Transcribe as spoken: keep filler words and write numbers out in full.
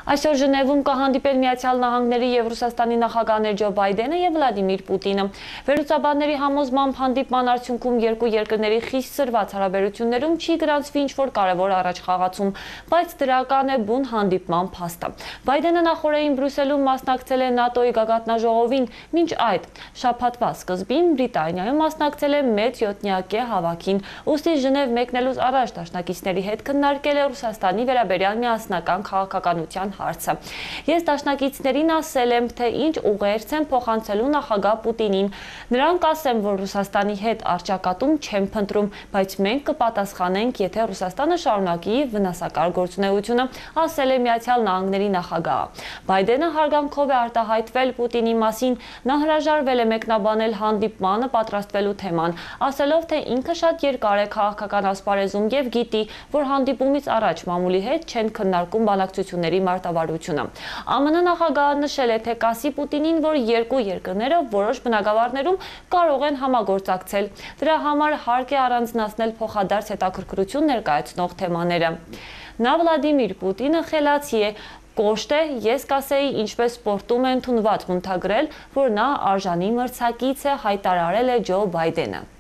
Այսօր Ժնևում կհանդիպել Միացյալ Նահանգների և Ռուսաստանի նախագահներ Ջո Բայդենը և Վլադիմիր Պուտինը։ Վերլուծաբանների համոզմամբ հանդիպման արդյունքում երկու երկրների խիստ սրված հարաբերություններում չի գրանցվի ինչ-որ կարևոր առաջխաղացում, բայց դրական է բուն հանդիպման փաստը։ Բայդենը նախօրեին Բրյուսելում մասնակցել է ՆԱՏՕ-ի գագաթնաժողովին, մինչ այդ շաբաթվա սկզբին Բրիտանիայում մասնակցել է մեծ յոթնյակե հավաքին, ուստի Ժնև մեկնելուց առաջ դաշնակիցների հետ քննարկել է Ռուսաստանի վերաբերյալ միասնական քաղաքականության հարցը։ Ես դաշնակիցներին ասել եմ, թե ինչ ուղերձ եմ փոխանցելու նախագահ Պուտինին։ Նրանք ասեմ, որ Ռուսաստանի հետ առճակատում չեմ փնտրում, բայց մենք կպատասխանենք, եթե Ռուսաստանը շարունակի վնասակար գործունեությունը, ասել է Միացյալ Նահանգների նախագահը։ Բայդենը հարգանքով է արտահայտվել Պուտինի մասին, նա հրաժարվել է մեկնաբանել հանդիպմանը պատրաստվելու թեման, ասելով, թե ինքը շատ երկար է քաղաքական ասպարեզում և գիտի, որ հանդիպումից առաջ մամուլի հետ չեն քննարկում բանակցությունների մարտավարությունը։ ԱՄՆ նախագահը նշել է, թե կասի Պուտինին, որ երկու երկրները որոշ բնագավառներում կարող են համագործակցել։ Դրա համար հարկ է առանձնացնել փոխադարձ հետաքրքրություն ներկայացնող թեմաները։ Նա Վլադիմիր Պուտինը խելացի է, կոշտ է, ես կասեի, ինչպես սպորտում է ընդունված բնութագրել, որ նա արժանի մրցակից է, հայտարարել է Ջո Բայդենը։